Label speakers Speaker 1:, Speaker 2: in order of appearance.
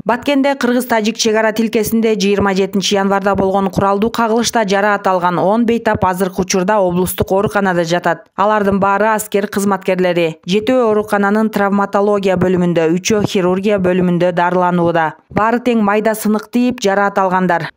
Speaker 1: Баткенде кыргыз-тажик чек ара тилкесинде 27 январда болгон куралдуу кагылышта жараат алган 10 бейтап азыркы учурда облустук ооруканада жатат. Алардын баары аскер кызматкерлери. 7 оорукананын травматология бөлүмүндө, 3 хирургия бөлүмүндө дарыланууда. Баары тең майда сынык тийип жараат алгандар.